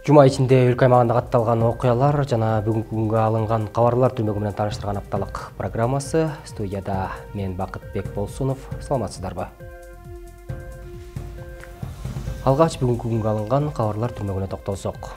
Жума ичинде өлкө аймагында катталган окуялар жана бүгүнкү күнгө алынган кабарлар түзмөгү менен тааныштырган апталык программасы. Студияда мен Бакытбек Болсунов. Саламатсыздарбы? Алгач бүгүнкү күнгө алынган кабарлар түзмөгүнө токтолсок.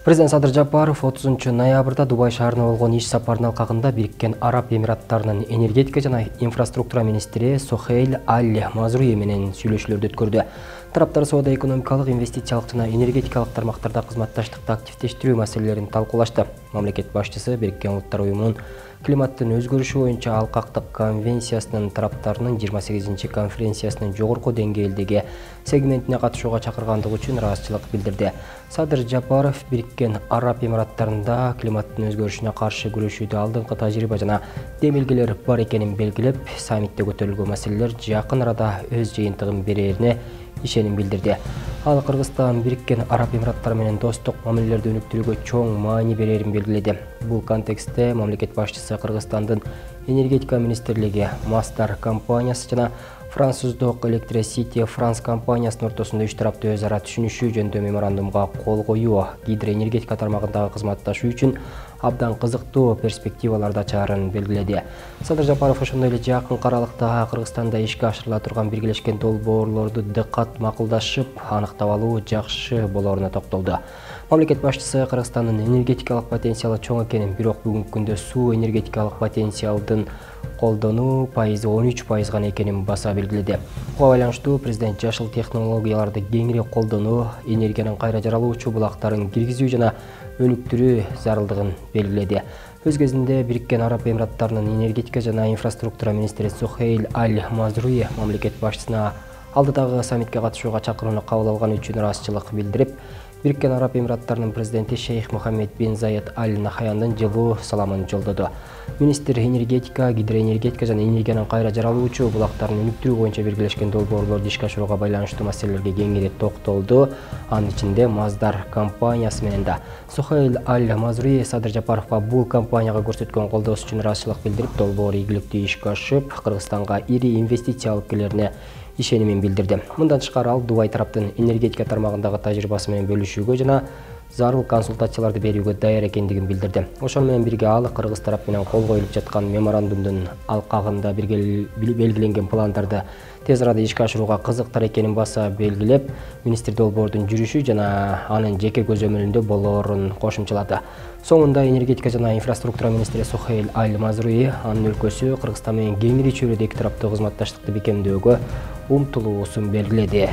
Президент Садыр Жапаров 30 ноябрда Дубай шаарына болгон иш сапарынын алкагында Бириккен Араб Эмираттарынын энергетика жана инфраструктура министри Сохейл Аль-Мазруи менен сүйлөшүүлөрдү өткөрдү. Тараптар соода-экономикалык, инвестициялык жана энергетикалык тармактарда кызматташтыкты активдештирүү маселелерин талкуулашты. Мамлекет башчысы Бириккен Улуттар Уюмунун климаттын өзгөрүшү боюнча алкактык конвенциясынын тараптарынын 28-конференциясынын жогорку деңгээлдеги сегментине катышууга чакыргандыгы үчүн ыраазычылык билдирди. Садыр Жапаров Бириккен Араб Эмираттарында климаттын өзгөрүшүнө каршы күрөшүүдө алдыңкы тажрыйба жана демилгелер бар экенин белгилеп, саммитте көтөрүлгөн маселелер жакын арада өз жыйынтыгын берерине ишеним билдирди. Ал Кыргызстан Бириккен Араб Эмираттары менен достук мамилелерди өнүктүрүүгө чоң маани берерин белгиледи. Бул контекстте мамлекет башчысы Кыргызстандын энергетика министрлиги, Масдар компаниясы жана француздук Electricity France компаниясынын ортосунда үч тараптуу өз ара түшүнүшүү жөнүндө меморандумга кол коюу гидроэнергетика тармагындагы кызматташуу үчүн абдан кызыктуу перспективаларды ачаарын белгиледи. Садыр Жапаров ошондой эле жакын аралыкта Кыргызстанда ишке ашырыла турган биргелешкен долбоорлорду дыкат макулдашып, аныктап алуу жакшы болоруна токтолду. Мамлекет башчысы Кыргызстандын энергетикалык потенциалы чоң экенин, бирок бүгүнкү күндө суу энергетикалык потенциалдын колдонуу пайызы 13% гана экенин баса белгиледи. Буга байланыштуу президент жашыл технологияларды кеңири колдонуу, энергиянын кайра жаралуучу булактарын киргизүү жана өнүктүрүү зарылдыгын белгиледи. Өз кезинде Бириккен Араб Эмираттарынын энергетика жана инфраструктура министри Сохейл Аль-Мазруи мамлекет башчысына алдыдагы саммитке катышууга чакырууну кабыл алганы үчүн ыраазычылык билдирип, Бириккен Араб Эмираттарынын президенти Шейх Мухаммед бин Заид Аль-Нахаяндын жылуу саламын жолдоду. Министр энергетика, гидроэнергетика жана энергиянын кайра жаралуучу булактарын өнүктүрүү боюнча биргелешкен долбоорлорду ишке ашырууга байланыштуу маселелерге кеңири токтолду. Анын ичинде Масдар компаниясы менен да. Сохейл Аль-Мазруи Садыр Жапаровго бул компанияга көрсөткөн колдоосу үчүн ыраазычылык билдирип, долбоор ийгиликтүү ишке ашып, Кыргызстанга ири инвестиция алып келерине ишенимин билдирди. Мындан тышкары ал Дубай тараптын энергетика тармагындагы тажрыйбасы менен бөлүшүүгө жана зарыл консультацияларды берүүгө даяр экендигин билдирди. Ошону менен бирге ал Кыргыз тарап менен кол коюлуп жаткан меморандумдун алкагында белгиленген пландарды тез арада ишке ашырууга кызыктар экенин баса белгилеп, министр долбоордун жүрүшү жана анын жеке көзөмөлүндө болоорун кошумчалады. Соңунда энергетика жана инфраструктура министри Сохейл Аль-Мазруи анын өлкөсү Кыргызстан менен кеңири чөйрөдө эки тараптуу кызматташтыкты бекемдөөгө умтулуусун белгиледи.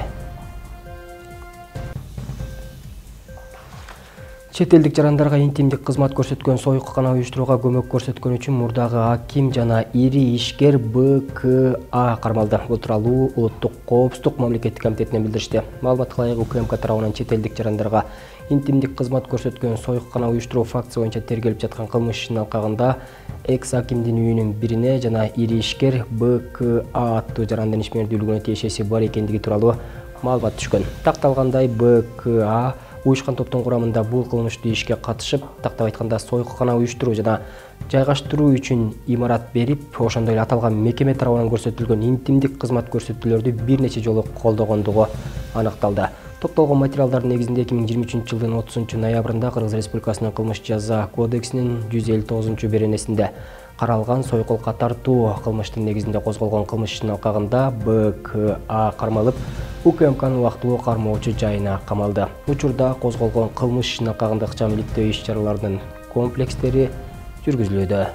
Чет элдик жарандарга интимдик кызмат көрсөткөн союккана уюштурууга көмөк көрсөткөн үчүн мурдагы аким жана ири ишкер БКА кармалды. Бул тууралуу Улуттук коопсуздук мамлекеттик комитетинен билдиришти. Маалыматка ылайык УКМК тарабынан чет элдик жарандарга интимдик кызмат көрсөткөн союккана уюштуруу фактысы боюнча тергелип жаткан кылмыш ишинин алкагында экс-акимдин үйүнүн бирине жана ири ишкер БКА аттуу жарандын ишмердүүлүгүнө тиешеси бар экендиги тууралуу маалымат түшкөн. Такталгандай БКА уюшкан топтун курамында бул кылмыштуу ишке катышып, тактап айтканда союккана уюштуруу жана жайгаштыруу үчүн имарат берип, ошондой эле аталган мекеме тарабынан көрсөтүлгөн интимдик кызмат көрсөтүүлөрдү бир нече жолу колдогондугу аныкталды. Топтолгон материалдардын негизинде 2023 жылдын 30 ноябрында Кыргыз Республикасынын кылмыш жаза кодексинин 159-беренесинде каралган союкулукка тартуу кылмыштын негизинде козголгон кылмыш ишинин алкагында БКА кармалып, УКМКнын убактылуу кармоочу жайына камалды. Учурда козголгон кылмыш ишинин алкагында ыкчам иликтөө иш-чараларынын комплекстери жүргүзүлүүдө.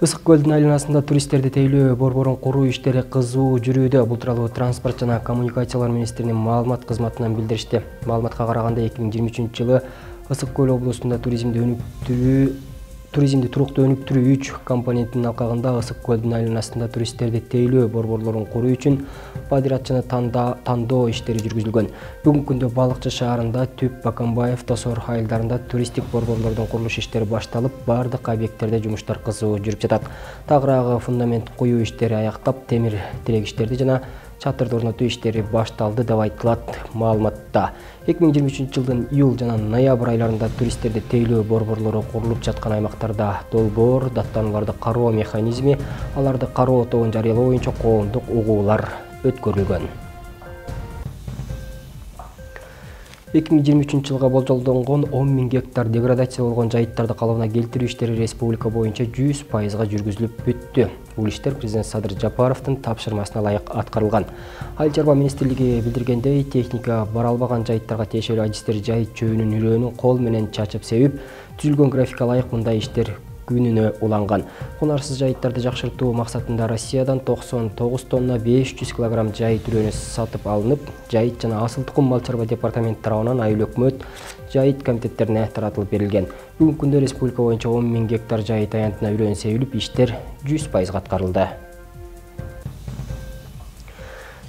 Ысык көлдүн айланасында туристтерди тейлөө борборун куруу иштери кызуу жүрүүдө. Бул тууралуу Транспорт жана коммуникациялар министринин маалымат кызматынан билдиришти. Маалыматка караганда 2023 жылы Ысык көл облусунда туризмди туруктуу өнүктүрүү 3 компонентинин алкагында ысык көлдүн айланасында туристтерди тейлөө борборлорун куруу үчүн подрядчыны тандоо иштери жүргүзүлгөн. Бүгүнкү күндө Балыкчы шаарында, Түп, Баканбаев, Тосор айылдарында туристтик борборлордун курулуш иштери башталып, бардык объекттерде жумуштар кызуу жүрүп жатат. Тагыраагы фундамент куюу иштери аяктап, темир тирегичтерди жана чатырды орнотуу иштери башталды деп айтылат маалыматта. 2023 жылдын июл жана ноябрь айларында туристтерди тейлөө борборлору курулуп жаткан аймактарда долбоор, даттанууларды кароо механизми, аларды кароо тобун жарыялоо боюнча коомдук угуулар өткөрүлгөн. 2023 жылга болжолдонгон 10 000 гектар деградация болгон жайыттарды калыбына келтирүү иштери республика боюнча 100% жүргүзүлүп бүттү. Бул иштер президент Садыр Жапаровдун тапшырмасына ылайык аткарылган. Айыл чарба министрлиги билдиргендей, техника бара албаган жайыттарга тиешелүү адистер жайыт чөбүнүн үрөөнүн кол менен чачып себип, түзүлгөн графикке ылайык мындай иштер күнүнө уланган. Кунарсыз жайыттарды жакшыртуу максатында Россиядан 99 тонна 500 кг жайыт үрөөнү сатып алынып, жайыт жана асыл тукум мал чарба департаменти тарабынан айыл өкмөт жайыт комитеттерине таратылып берилген. Бүгүнкү күндө республика боюнча 10 000 гектар жайыт аянтына үрөөн себилип, иштер 100% аткарылды.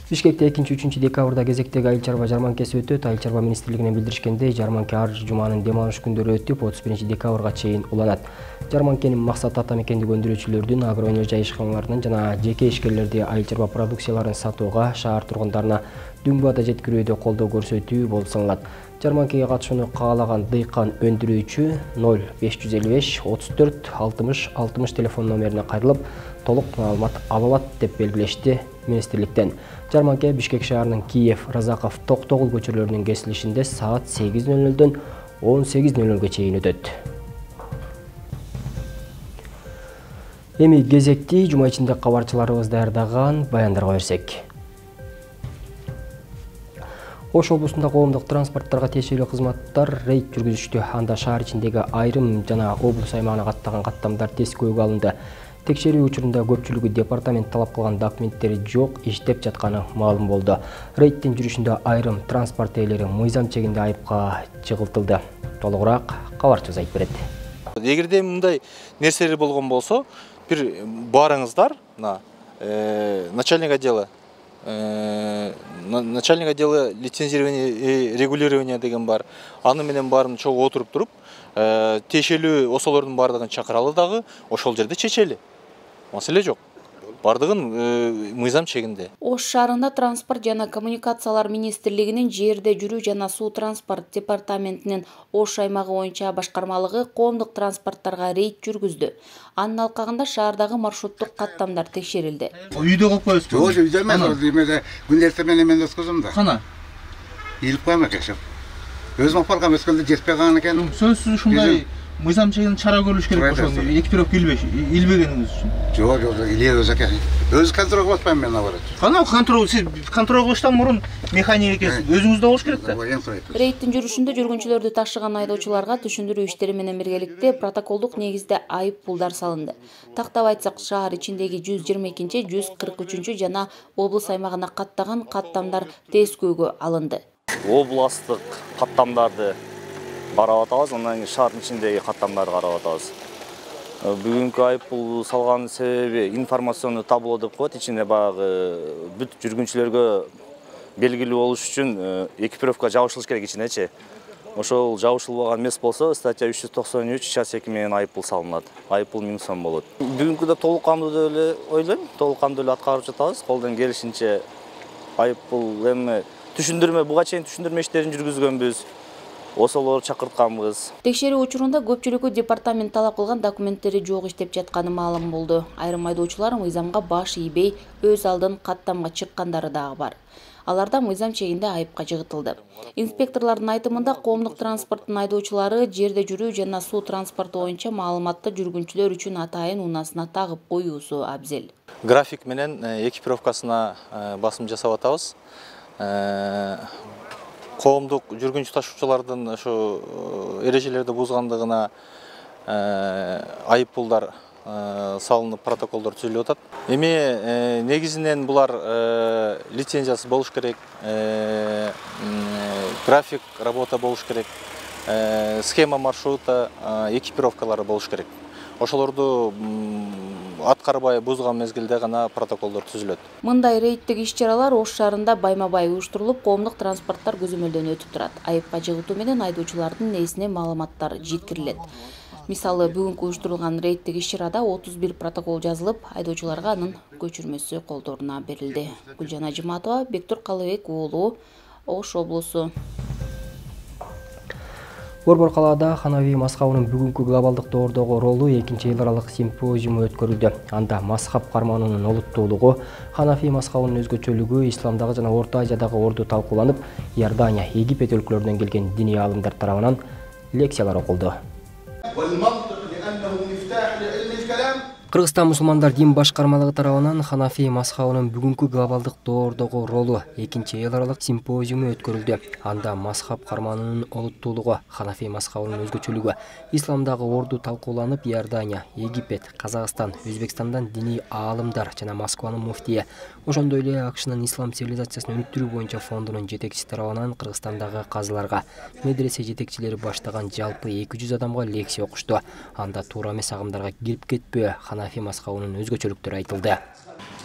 Бишкекте 2-3 декабрда кезектеги айыл чарба жарманкеси өтөт. Айыл чарба министрлигинен билдиришкендей, жарманке ар жуманын дем алыш күндөрү өтүп, 31 декабрга чейин уланат. Жарманкенин максаты ата мекендик өндүрүүчүлөрдүн, агроөнөр ишканаларынын жана жеке ишкерлерди айыл чарба продукцияларын сатууга, шаар тургундарына дүң баада жеткирүүдө колдоо көрсөтүү болуп саналат. Жарманкеге катышууну каалаган дыйкан өндүрүүчү 0555 34 60 60 телефон номерине кайрылып, толук маалымат ала алат деп белгилешти министрликтен. Жарманке Бишкек шаарынын Киев, Разаков, Токтогул көчөлөрүнүн кесилишинде саат 8:00-дөн 18:00-га чейин өтөт. Эми кезекти жума ичинде кабарчыларыбыз даярдаган баяндарга берсек. Ош облусунда коомдук транспорттарга тиешелүү кызматтар рейд жүргүзүштү. Анда шаар ичиндеги айрым жана облус аймагына каттаган каттамдар тескөөгө алынды. Текшерүү учурунда көпчүлүгү департамент талап кылган документтери жок, иштеп жатканы маалым болду. Рейдтин жүрүшүндө айрым транспорт ээлери мыйзам чегинде айыпка чыгылтылды. Толугураак кабарчыбыз айтып берет. Эгерде мындай нерселер болгон болсо, бир барыңыздар, начальник отдела лицензирования и регулирования деген бар. Аны менен баарын чогуу отуруп туруп, тиешелүү осолордун бардыгын чакыралы дагы, ошол жерде чечели. Маселе жок. Бардыгын мыйзам чегинде. Ош шаарында транспорт жана коммуникациялар министрлигинин жерде жүрүү жана суу транспорт департаментинин Ош аймагы боюнча башкармалыгы коомдук транспорттарга рейд жүргүздү. Анын алкагында шаардагы маршруттук каттамдар текшерилди. Үйдө калып коесуз? Жок, үйдө эмес, күндөртө менен өткөзөм да. Кана? Илип коем экеншим. Өзүм алып барган өскөндө жетпей калган экен. Сөзсүз ушундай мыйзам чегинде чара көрүлүш керек ошол экипировка илбегениңиз үчүн. Жок, илебей өзү экен. Өзү контролго баспайм мен алар. Кана контрол, сиз контрол кылыштан мурун механик экенсиз. Өзүңүздө болуш керек да. Рейдтин жүрүшүндө жүргүнчүлөрдү ташыган айдоочуларга түшүндүрүү иштери менен биргеликте протоколдук негизде айып пулдар салынды. Тактап айтсак, шаар ичиндеги 122, 143 жана облус аймагына каттаган каттамдар тескөөгө алынды. Областык каттамдарды карап атабыз, андан кийин шаардын ичиндеги каттамдарды карап атабыз. Бүгүнкү айыппул салган себеби информационный табло деп коет, ичинде баягы бүт жүргүнчүлөргө белгилүү болуш үчүн экипировка жабышылыш керек ичинечи. Ошол жабышылбаган эмес болсо, статья 393 час 2 менен айыппул салынат. Айыппул 1000 сом болот. Бүгүнкүдө толук кандуу деп эле ойлойм, толук кандуу эле аткарып жатабыз. Колдон келишинче айыппул эми түшүндүрмө, буга чейин түшүндүрмө иштерин жүргүзгөнбүз. Осолор чакыртканбыз. Текшерүү учурунда көпчүлүгү департамент талап кылган документтери жок иштеп жатканы маалым болду. Айрым айдоочулар мыйзамга баш ийбей, өз алдын каттамга чыккандары дагы бар. Аларда мыйзам чегинде айыпка жыгытылды. Инспекторлордун айтымында коомдук транспорттун айдоочулары жерде жүрүү жана суу транспорту боюнча маалыматты жүргүнчүлөр үчүн атайын унаасына тагып коюусу абзел. График менен экипировкасына басым жасап атабыз. Коомдук жүргүнчү ташуучулардын ошо эрежелерди бузгандыгына айыппулдар салынып, протоколдор түзүлүп атат. Эми негизинен булар лицензиясы болуш керек, график работа болуш керек, схема маршрута, экипировкалары болуш керек. Ошолорду аткарбай бузган мезгилде гана протоколдор түзүлөт. Мындай рейдтик иш-чаралар Ош шаарында байма-бай уюштурулуп, коомдук транспорттар көзөмөлдөн өтүп турат. Айыпка жыгытуу менен айдоочулардын ээсине маалыматтар жеткирилет. Мисалы, бүгүнкү уюштурулган рейдтик иш-чарада 31 протокол жазылып, айдоочуларга анын көчүрмөсү колдоруна берилди. Гүлжан Ажыматова, Бектур Калыбек уулу, Ош облусу. Борбор калаада Ханафи мазхабынын бүгүнкү глобалдык доордогу ролу 2-эл аралык симпозиуму өткөрүлдү. Анда мазхаб карманынын олуттуулугу, Ханафи мазхабынын өзгөчөлүгү, исламдагы жана Орто Азиядагы орду талкууланып, Иордания, Египет өлкөлөрүнөн келген диний аалымдар тарабынан лекциялар окулду. Кыргызстан мусулмандар дин башкармалыгы тарабынан Ханафи мазхабынын бүгүнкү глобалдык доордогу ролу 2-эл аралык симпозиуму өткөрүлдү. Анда мазхаб карманынын олуттуулугу, Ханафи мазхабынын өзгөчөлүгү, исламдагы орду талкууланып, Иордания, Египет, Казакстан, Өзбекстандан диний аалымдар жана Москванын муфтийи, ошондой эле АКШнын ислам цивилизациясын өнүктүрүү боюнча фондунун жетекчиси тарабынан Кыргызстандагы казыларга, медресе жетекчилери баштаган жалпы 200 адамга лекция окушту. Анда туура эмес агымдарга кирип кетпөө, Ханафи мазхабынын өзгөчөлүктөрү айтылды.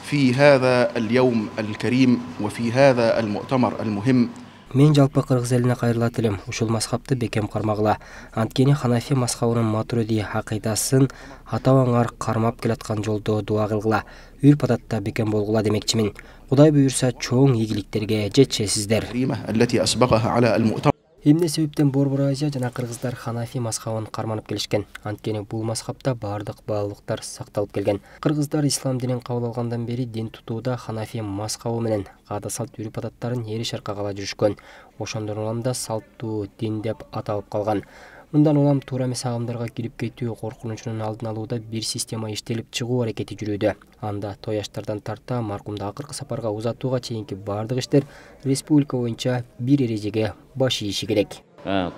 في هذا اليوم الكريم وفي هذا المؤتمر المهم Мен жалпы кыргыз элине кайрылат элем. Ушул мазхабты бекем кармагыла. Анткени Ханафи мазхабынын матуриди акыйдасын ата-бабаңар кармап келаткан жолдо дуа кылгыла. Үрп-адатта бекем болгула демекчимин. Кудай буйрса чоң ийгиликтерге жетишесиздер. التي أسبقها على المؤتمر. Эмне себептен Борбор Азия жана кыргыздар Ханафи мазхабын карманып келишкен? Анткени бул мазхабта бардык баалуулуктар сакталып келген. Кыргыздар ислам динин кабыл алгандан бери дин тутууда Ханафи мазхабы менен каада салт үрп-адаттарын эри шаркка кала жүрүшкөн. Ошондон улам да салттуу дин деп аталып калган. Мындан улам туура эмес агымдарга кирип кетүү коркунучунун алдын алууда бир система иштелип чыгуу аракети жүрүүдө. Анда тояштардан тарта маркумду акыркы сапарга узатууга чейинки бардык иштер республика боюнча бир эрежеге баш ийиши керек.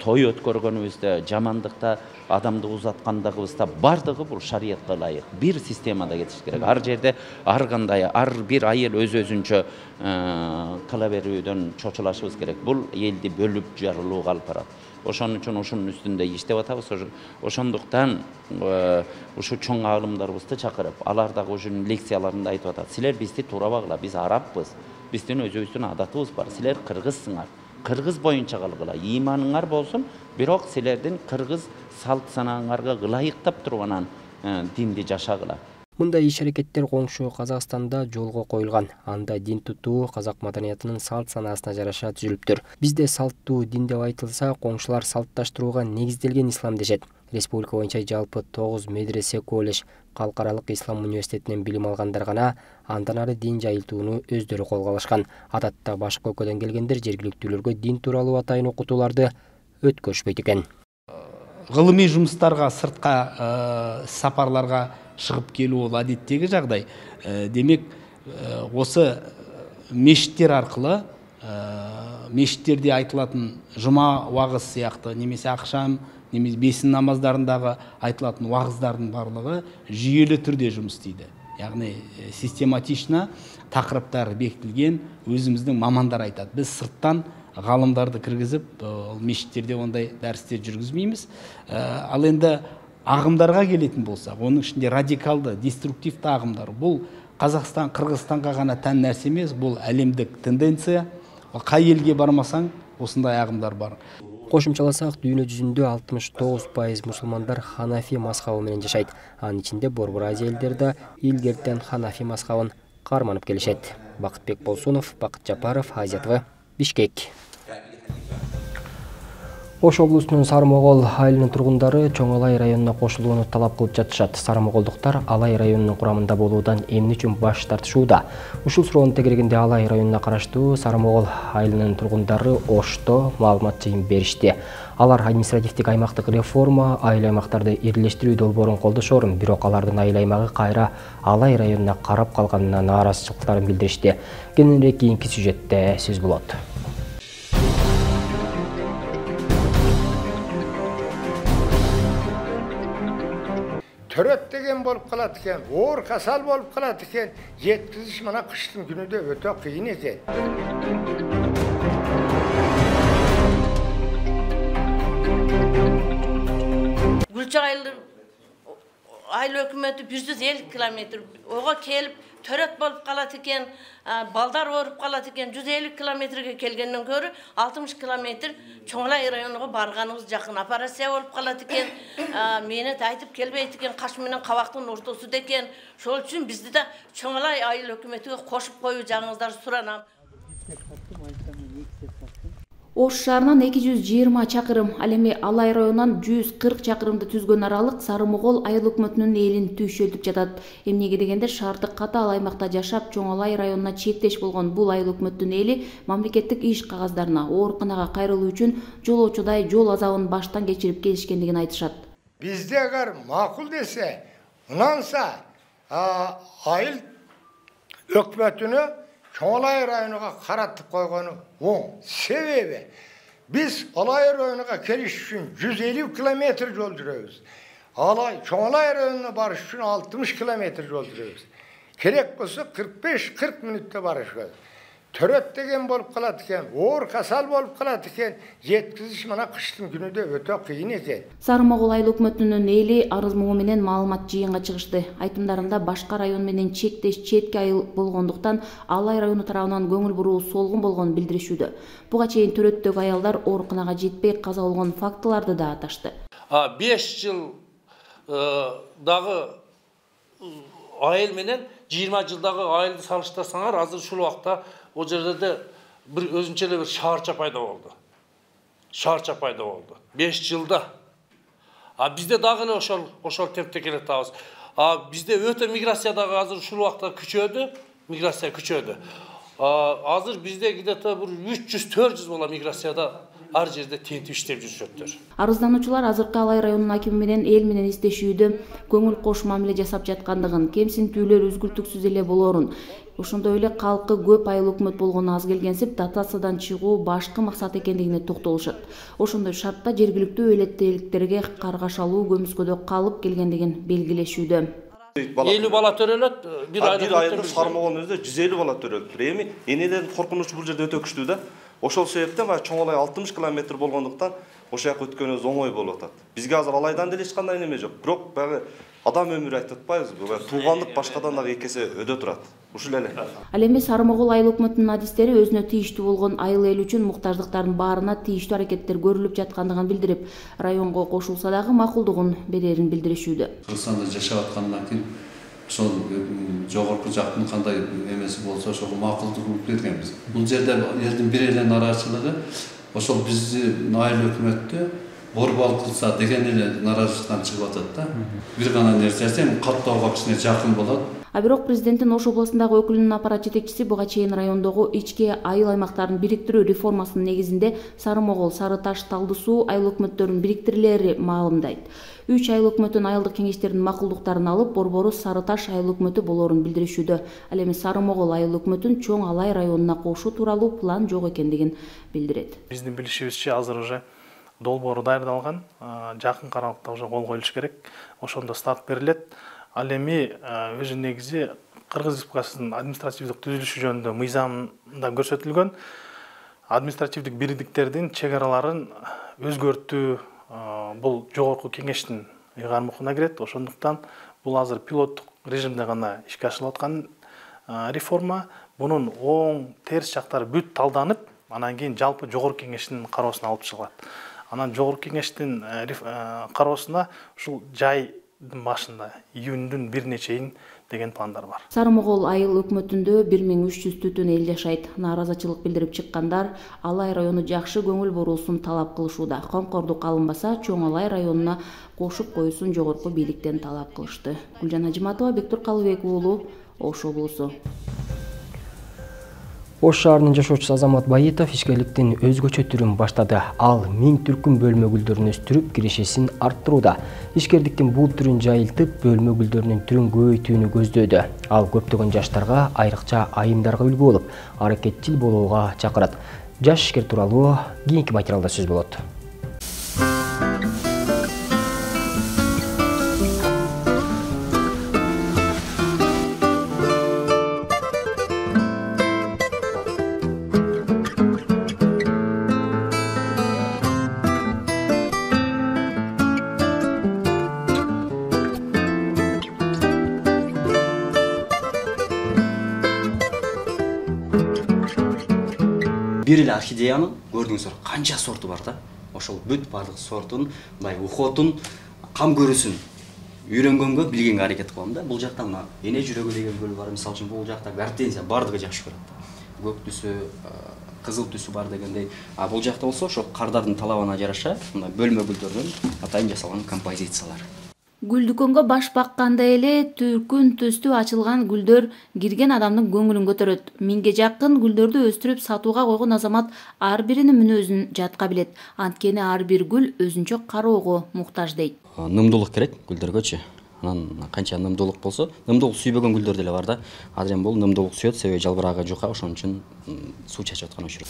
Той өткөргөнүбүздө, жамандыкта, адамды узаткандыгыбызда бардыгы бул шариятка ылайык бир системада кетиш керек. Ар жерде ар кандай, ар бир айыл өз-өзүнчө кыла берүүдөн чочулашыбыз керек. Бул элди бөлүп жарылууга алып барат. Ошон үчүн ушунун үстүндө иштеп атабыз. Ошондуктан ушу чоң аалымдарыбызды чакырып, алар дагы ушунун лекцияларында айтып атат. Силер бизди туурабагыла, биз араббыз. Биздин өзүбүздүн адатыбыз бар. Силер кыргызсыңар. Кыргыз боюнча калгыла. Ыйманыңар болсун, бирок силердин кыргыз салт санааңарга ылайыктап туруп анан динди жашагыла. Мындай иш-аракеттер коңшу Казакстанда жолго коюлган. Анда дин тутуу казак маданиятынын салт санаасына жараша түзүлүптүр. Бизде салттуу дин деп айтылса, коңшулар салтташтырууга негизделген ислам дешет. Республика боюнча жалпы 9 медресе, колледж, Калкаралык ислам университетинен билим алгандар гана андан ары дин жайылтууну өздөрү колго алышкан. Адатта башка өлкөдөн келгендер жергиликтүүлөргө дин тууралуу атайын окутууларды өткөрүшпөйт экен. Гылымый жумуштарга, сыртка сапарларга чыгып келүү ол адеттеги жагдай. Демек, осы мешиттер аркылы мешиттерде айтылатын жума вагыз сыяктуу немесе акшам, немесе бесин намаздарындагы айтылатын вагыздардын барлыгы жүйөлүү түрдө жумуш істейди. Яғни систематично тақырыптар бекитилген, өзүмүздүн мамандар айтат. Биз сырттан галымдарды киргизип, мешиттерде ондай дәрістер жүргүзбеймиз. Ал енді агымдарга келетін болсақ, оның ішінде радикалды, деструктивті агымдар. Бұл Қазақстан, Қырғызстанға ғана тән нәрсе емес, бұл әлемдік тенденция. Қай елге бармасаң, осындай агымдар бар. Кошумчаласак, дүйнө жүзүндө 69% мусулмандар Ханафи мазхабы менен жашайт. Анын ичинде Борбор Азия элдери илгертен Ханафи мазхабын карманып келишет. Бакытбек Болсунов, Бакыт Жапаров, Азия ТВ, Бишкек. Ош облусунун Сарымогол айылынын тургундары Чоң Алай районуна кошулууну талап кылып жатышат. Сарымоголдуктар Алай районунун курамында болуудан эмне үчүн баш тартышууда? Ушул суроону тегерегенде Алай районуна караштуу Сарымогол айылынын тургундары Ошто маалымат жыйын беришти. Алар административдик аймактык реформа, айыл аймактарды ирлештирүү долбоорун колдошор, бирок алардын айыл аймагы кайра Алай районуна карап калганына нааразычылыктарын билдиришти. Кененирээк кийинки сюжетте сөз болот. Төрөт деген болып қалады екен, оор касал болып қалады екен, жеткізіш мына қыштың күнінде өте қиын екен. Гүлча айыл өкіметі 150 километр, оға келіп төрөт болып қалады екен, балдар орып қалады екен, 150 километрге келгеннен көрі 60 километр Чоң Алай районуға барғаныңыз жақын операция болып қалады екен, мені айтып келбейді екен, қаш менен қабақтың ортасы декен. Шол үшін бізді де Чоң Алай айыл өкіметіге қошып қою жаңыңыздар сұранам. Ош шаарынан 220 чакырым, ал эми Алай районунан 140 чакырымды түзгөн аралык Сары-Могол айыл өкмөтүнүн элин түйшөлтүп жатат. Эмнеге дегенде шаардык катаал аймакта жашап, Чоң Алай районуна чектеш болгон бул айыл өкмөтүнүн эли мамлекеттик иш кагаздарына ооруканага кайрылуу үчүн жолоочудай жол азабын баштан кечирип келишкендигин айтышат. Бизде агар макул десе, унанса айыл өкмөтүнө Чоң Алай районуга каратып койгону оң. Себеби биз Алай районуга келиш үчүн 150 километр жол жүрөбүз. Чоң Алай районуна барыш үчүн 60 километр жол жүрөбүз. Керек болсо 45-40 мүнөттө барышыбыз. Төрөт деген болуп калат экен, оор касал болуп калат экен, жеткизиш мына кыштын күнүдө өтө кыйын экен. Сары-Могол айыл өкмөтүнүн эли арыз муңу менен маалымат жыйынга чыгышты. Айтымдарында башка район менен чектеш четки айыл болгондуктан Алай району тарабынан көңүл буруу солгун болгонун билдиришүүдө. Буга чейин төрөттөгү аялдар ооруканага жетпей каза болгон фактыларды да аташты. 5 жыл дагы айыл менен 20 жылдагы айылды салыштырсаңар, азыр ушул убакта о жерде bir өзүнчө эле bir шаарча пайда болду. Шаарча пайда болду. 5 жылда. Бизде дагы эле ошол темпте келатабыз. Бизде өтө миграция дагы азыр ушул убакта күчөдү, миграция күчөдү. Азыр бизде где-то bir 300-400 бала миграцияда ар жерде тентип иштеп жүрүшөттөр. Арыздануучулар азыркы Алай районунун акими менен эл менен издешүүдө көңүл кош мамиле жасап жаткандыгын, кемсинтүүлөр үзгүлтүксүз эле болоорун, ошондой эле калкы көп айыл өкмөт болгону аз келгенсип дотациядан чыгуу башкы максат экендигине токтолушат. Ошондой шартта жергиликтүү электеликтерге каргашалуу көмүскөдө калып келгендигин белгилешүүдө. 50 бала төрөлөт, бир айылда Сары-Могол өзү 150 бала төрөлөт. Эми энелердин коркунучу бул жерде өтө күчтүү да. Ошол себептен Чоң Алай 60 километр болгондуктан ошол жака өткөнүбүз оңой болуп атат. Бизге азыр Алайдан деле эч кандай неме жок. Бирок баягы адам өмүрү айтып атпайбызбы? Туугандык башкадан дагы эки эсе өдө турат. Ушул эле. Ал эми Сары-Могол айыл өкмөтүнүн адистери өзүнө тийиштүү болгон айыл эл үчүн муктаждыктардын баарына тийиштүү аракеттер көрүлүп жаткандыгын билдирип, районго кошулса дагы макулдугун берерин билдиришүүдө. Кыргызстанда жашап аткандан кийин ошол жогорку жактын кандай эмеси болсо ошого макулдугун бергенбиз. Бул жерде элдин бир эле нараачылыгы ошол биздин айыл өкмөттү борбал кылса деген эле нараачылыктан чыгып атат да. Бир гана нерсеси каттоого кичине жакын болот. Бирок президенттин Ош областындагы өкүлүнүн аппарат жетекчиси буга чейин райондогу ички айыл аймактарын бириктирүү реформасынын негизинде Сары-Могол, Сары-Таш, Талды суу айыл өкмөттөрүн бириктирилери маалымдайт. 3 айыл өкмөтүн айылдык кеңештердин макулдуктарын алып, борбору Сары-Таш айыл өкмөтү болоорун билдиришүүдө. Ал эми Сары-Могол айыл өкмөтүн Чоң Алай районуна кошуу тууралуу план жок экендигин билдирет. Биздин билишибизче азыр уже долбоору даярдалган, жакын аралыкта уже кол коюлуш керек. Ошондо старт берилет. Ал эми өзү негизи Кыргыз Республикасынын административдик түзүлүшү жөнүндө мыйзамда көрсөтүлгөн административдик бирдиктердин чек араларын өзгөртүү бул жогорку кеңештин ыйгармыкына кирет. Ошондуктан бул азыр пилоттук режимде гана ишке ашырылып аткан реформа. Бунун оң терс жактары бүт талданып, анан кийин жалпы жогорку кеңештин кароосуна алып чыгылат. Анан жогорку кеңештин кароосуна ушул жай башында июндун 1-чейин деген пландар бар. Сары-Могол айыл өкмөтүндө 1300 түтүн эл жашайт. Нааразычылык билдирип чыккандар Алай району жакшы көңүл буруусун талап кылышууда. Коңкордук алынбаса, Чоң Алай районуна кошуп коюусун жогорку бийликтен талап кылышты. Гүлжан Ажиматова, Бектур Калыбек уулу, Ош облусу. Ош шаарынын жашоочусу Азамат Байытов ишкерликтин өзгөчө түрүн баштады. Ал 1000 түркүм бөлмө гүлдөрүн өстүрүп, киришесин арттырууда. Ишкердиктин бул түрүн жайылтып, бөлмө гүлдөрүнүн түрүн көбөйтүүнү көздөөдө. Ал көптөгөн жаштарга, айрыкча айымдарга үлгү болуп, аракетчил болууга чакырат. Жаш ишкер тууралуу кийинки материалда сөз болот. Бир эле орхидеянын көрдүңүздөр канча сорту бар да. Ошол бүт бардык сортун, мындай ухотун, кам көрүүсүн үйрөнгөнгө, билгенге аракет кылам да. Бул жакта мына эне жүрөгү деген гүл бар. Мисалы үчүн бул жакта гортензия бардыгы жакшы көрөт. көк түсү, кызыл түсү бар дегендей. А бул жакта болсо ошо кардардын талабына жараша мындай бөлмө гүлдөрдөн атайын жасалган композициялар. Гүл дүкөнгө баш баккандай эле түркүн түстүү ачылган гүлдөр кирген адамдын көңүлүн көтөрөт. 1000ге жакын гүлдөрдү өстүрүп сатууга койгон азамат ар биринин мүнөзүн жатка билет. Анткени ар бир гүл өзүнчө кароого муктаж дейт. Нымдуулук керек гүлдөргөчү. Анан канча нымдуулук болсо, нымдуулук сүйбөгөн гүлдөр деле бар да. Азыр эми бул нымдуулук сүйөт, себеби жалбырагы жука, ошон үчүн суу чачып аткан учур.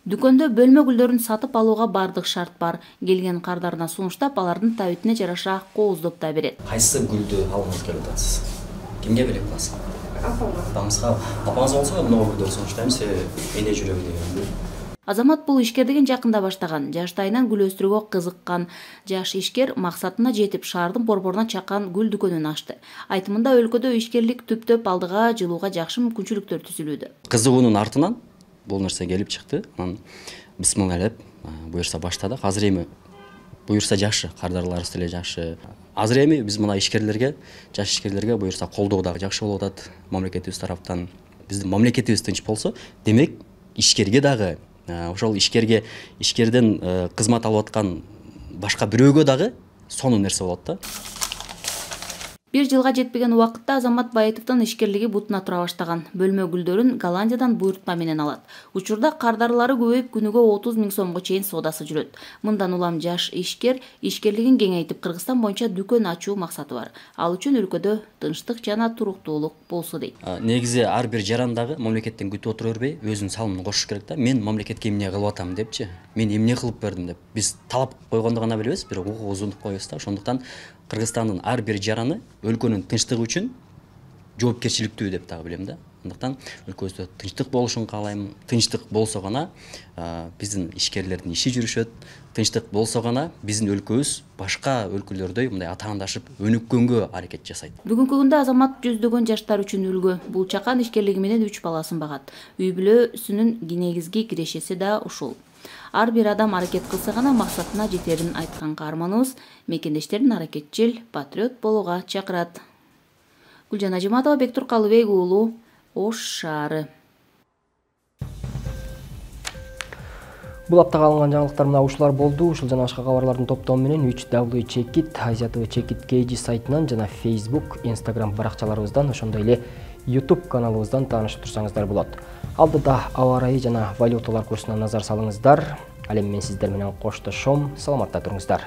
Дүкөндө бөлмө гүлдөрүн сатып алууга бардык шарт бар. Келген кардарына сунуштап, алардын табитине жараша кооздоп да берет. Кайсы гүлдү алгыңыз келип атасыз? Кимге белек кыласыз? Апаңызга. Апаңыз болсо могу гүлдөрдү сунуштайм, себеби эне жүрөгү деген гүл. Азамат бул ишкердигин жакында баштаган. Жаштайынан гүл өстүрүүгө кызыккан. Жаш ишкер максатына жетип шаардын борборуна чаккан гүл дүкөнүн ачты. Айтымында өлкөдө ишкерлик түптөп алдыга жылууга жакшы мүмкүнчүлүктөр түзүлүүдө. Кызыгуунун артынан бул нерсе келип чыкты. Анан бисмиллалеп буюрса баштадык. Азыр эми буюрса жакшы, кардарларыбыз деле жакшы. Азыр эми биз мына ишкерлерге, жаш ишкерлерге буюрса колдоо дагы жакшы болуп атат мамлекетибиз тараптан. Биздин мамлекетибиз тынч болсо, демек ишкерге дагы ошол ишкерден кызмат алып аткан башка бирөөгө дагы сонун нерсе болот да. 1 жылга жетпеген убакытта Азамат Баетовдун ишкерлиги бутуна тура баштаган. Бөлмө гүлдөрүн Голландиядан буйртма менен алат. Учурда кардарлары көбөйүп, күнүгө 30 000 сомго чейин соодасы жүрөт. Мындан улам жаш ишкерлигин кеңейтип, Кыргызстан боюнча дүкөн ачуу максаты бар. Ал үчүн өлкөдө тынчтык жана туруктуулук болсо дейт. Негизи ар бир жарандагы мамлекеттен күтүп отура бербей, өзүнүн салымын кошуш керек да. Мен мамлекетке эмне кылып атам депчи. Мен эмне кылып бердим деп. Биз талап койгонду гана билебиз, бирок укугубуздун коебуз да. Ошондуктан Кыргызстандын ар бир жараны өлкөнүн тынчтыгы үчүн жоопкерчиликтүү деп дагы билем да. Андыктан өлкөбүздө тынчтык болушун каалайм. Тынчтык болсо гана биздин ишкерлердин иши жүрүшөт. Тынчтык болсо гана биздин өлкөбүз башка өлкөлөрдөй мындай атаандашып өнүккөнгө аракет жасайт. Бүгүнкү күндө Азамат жүздөгөн жаштар үчүн үлгү. Бул чакан ишкерлиги менен 3 баласын багат. Үй бүлөсүнүн негизги кирешеси да ушул. Ар бир адам аракет кылса гана максатына жетерин айткан каарманыбыз мекендештерин аракетчил, патриот болууга чакырат. Гүлжан Ажиматова, Бектур Калыбек уулу, Ош шаары. Бул аптага алынган жаңылыктар мына ушулар болду. Ушул жана башка кабарлардын топтому менен 3W Check It, Asia TV Check It KG сайтынан жана Facebook, Instagram баракчаларыбыздан, ошондой эле YouTube каналыбыздан таанышып турсаңыздар болот. Алдыда аба ырайы жана валюталар курсуна назар салыңыздар. Ал эми мен сиздер менен коштошом. Саламатта туруңуздар.